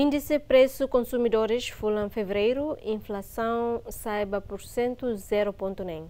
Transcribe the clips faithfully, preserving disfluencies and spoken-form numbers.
Índice presu konsumidores fulan fevereiru, inflasaun sa'e ba pursentu zero pontu neen.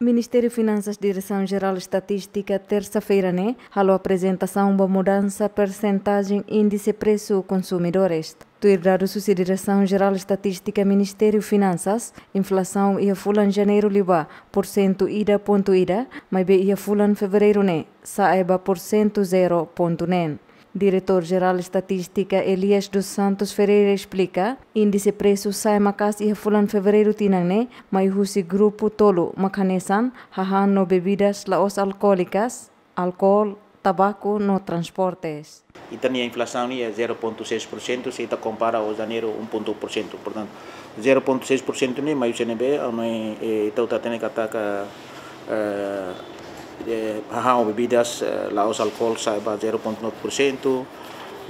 Ministériu Finansas Diresaun Jerál Estatístika, tersa-feira ne'e, halo aprezentasaun ba mudansa persentajen índice presu konsumidores. Tuir dadus husi Diresaun Jerál Estatístika Ministériu Finansas, inflasaun iha fulan Janeiru liubá pursentu ida pontu ida, maibé iha fulan Fevereiru ne'e sa'e ba pursentu zero pontu neen. Diretór Jerál Estatístika Elias dos Santos Ferreira esplika, índice presu sa'e maka'as iha fulan Fevereiru tinan ne'e, mai husi grupu tolu mak hanesan, hahán no bebidas la'ós alkoólikas, alkohol, tabaku no transportes. Ita-nia inflasaun ne'e zero pontu seis por cento, se ita kompara ho Janeiru um ponto um por cento. Portantu, zero pontu seis por cento ne'e mai husi ne'ebé, ami, eh, ita hatene katak, eh, eh, hahán ho bebidas, eh, la'ós alkohol sa'e ba zero pontu nove por cento,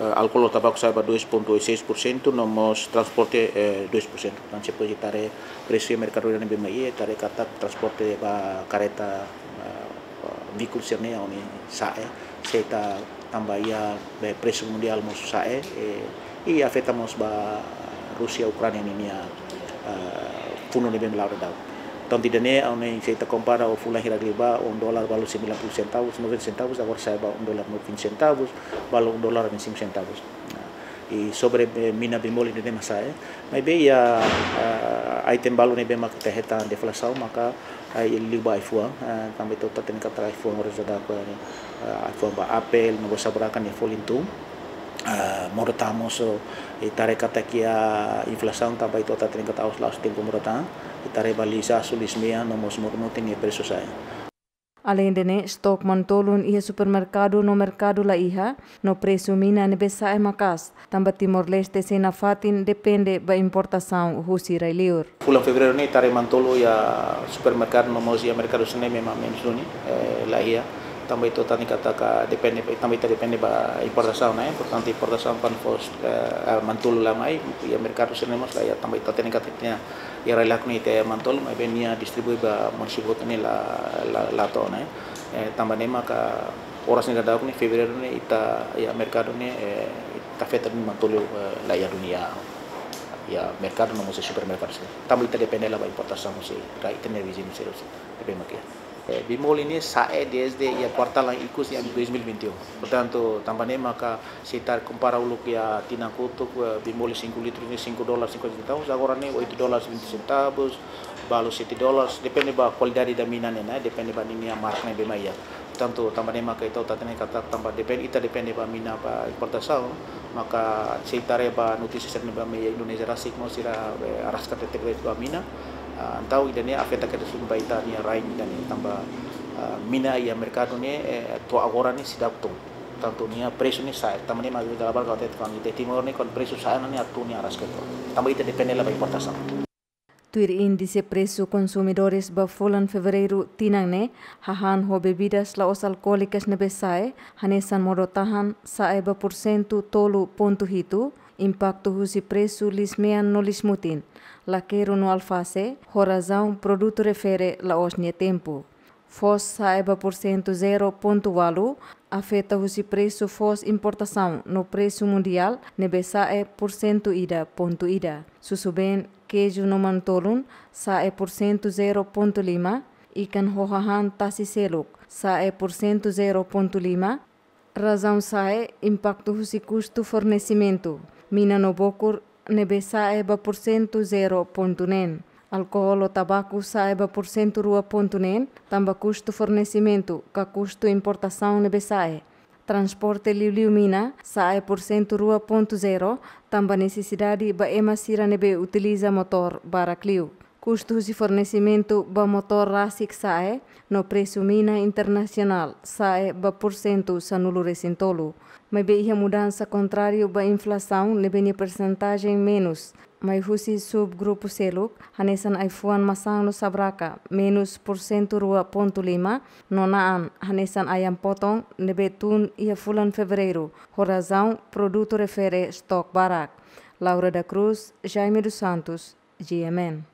eh, alkohol ho tabaku sa'e ba dois pontu seis por cento, no mós transporte, eh, dois por cento. Portantu, se pode tare presu iha merkadu ne'ebé mai, tare katak transporte ba kareta, eh, veíkulu sira-ne'e, ami sa'e, se ita tanba iha, eh, presu mundiál mós sa'e, eh, i afeta mós ba Rúsia, Ukránia ninia, eh, funu ne'ebé la'o daudaun. Entaun, ida-ne'e, ami, se ita kompara ho fulan hirak liubá, um dólar balu sembilan puluh centavos, noventa centavos, agora sa'e ba um dólar noventa centavos, balu um dólar vinte e cinco centavos. Nah, i sobre, eh, mina bemol ida-ne'e mak sa'e, eh. Maibé iha, eh, item balu ne'ebé mak ita hetan deflasaun, maka, eh, liu ba ai-fuan, eh, tanba ita hatene katak ai-fuan oras daudaun, eh, ai-fuan ba apel, no mós saburaka nia folin tun. Eh, modo tan mós, eh, ita haree katak iha inflasaun tanba ita hatene katak la'ós tempu modo tan, ita haree ba liis-asu, liis-mean, no mós moruk-mutin nia presu sa'e. Aleinde ne'e, estok manu-tolun iha supermerkadu no merkadu la iha, no presu mina ne'ebé sa'e maka'as, tanba Timor-Leste sei nafatin depende ba importasaun husi rai-liur. Fulan Fevereiru ne'e ita haree manu-tolun iha supermerkadu no mós iha merkadu sira-ne'e memang menus duni, eh, la iha. Tanba ita hatene katak depende, tanba ita depende ba importasaun, eh. Portantu, importasaun kuandu fó, eh, eh, manu-tolun la mai, iha merkadu sira-ne'e mós la iha, tanba ita hatene katak iha rai-laran ne'e iha manu-tolun, maibé nia distribui ba munisípiu hotu ne'e la, la, la to'o, ne'e. Eh, tanba ne'e maka oras ne'e daudaun ne'e, Fevereiru ne'e, ita, iha merkadu ne'e, eh, ita afeta duni manu-tolun, eh, la iha duni iha, iha merkadu no mós supermerkadu sira. Tanba ita depende la ba importasaun husi rai, ita-nia viziñu sira husi, tapi makia. Eh, bemol ne'e sa'e dezde iha kuartal ikus iha dois mil e vinte e um. Portantu, tanba ne'e maka se ita kompara uluk iha tinan kotuk, eh, bemol cinco litros ne'e cinco dólares cinquenta centavos, agora ne'e oito dólares vinte centavos, balu sete dólares, depende ba kualidade da mina ne'e, ne'e, depende ba ninia marka ne'ebé mak iha. Portantu, tanba ne'e maka ita hatene katak tanba depende, ita depende ba mina ba importasaun, maka se ita haree ba notísia sira ne'ebé mai iha Indonézia rasik mós sira, eh, araska tebetebes ba mina. Ah, entaun ida-ne'e afeta kedas duni ba ita-nia rain ida-ne'e tanba, ah, mina iha merkadu ne'e, eh, to'o agora ne'e seidauk tun. Tantu nia presu ne'e sa'e, tanba ne'e mak ita labele katak kuandu iha Timor ne'e kuandu presu sa'e ne'e atu nia araska to'o. Tanba ita depende la ba importasaun. Tuir índice presu konsumidores ba fulan Fevereiru tinan ne'e, hahán ho bebidas la'ós alkoólikas ne'ebé sa'e, hanesan modo-tahan sa'e ba pursentu tolu pontu hitu, impaktu husi presu liis-mean no liis-mutin, lakeru no alfase, ho razaun produtu refere la'ós nia tempu. Foos sa'e ba pursentu zero pontu ualu, afeta husi presu foos importasaun no presu mundiál ne'ebé sa'e pursentu ida pontu ida. Susubeen, keiju no manu-tolun sa'e pursentu zero pontu lima, ikan ho hahán tasi seluk sa'e pursentu zero pontu lima, razaun sa'e impaktu husi kustu fornesimentu, mina no bokur ne'ebé sa'e ba pursentu zero pontu neen. Alkohol ho tabaku sa'e ba pursentu rua pontu neen, tanba kustu fornesimentu ka kustu importasaun ne'ebé sa'e. Transporte liuliu mina sa'e pursentu rua pontu zero, tanba nesesidade ba ema sira ne'ebé utiliza motór barak liu. Kustu husi fornesimentu ba motór rasik sa'e, no presu mina internasionál sa'e ba pursentu sanulu-resin-tolu. Maibé iha mudansa kontráriu ba inflasaun ne'ebé nia persentajen menus, mai husi subgrupu seluk, hanesan ai-fuan, masán no sabraka, menus pursentu rua pontu lima, no na'an, hanesan ayam potong, ne'ebé tun iha fulan Fevereiru, ho razaun produtu refere estok barak. Laura da Cruz, Jaime dos Santos, G M N.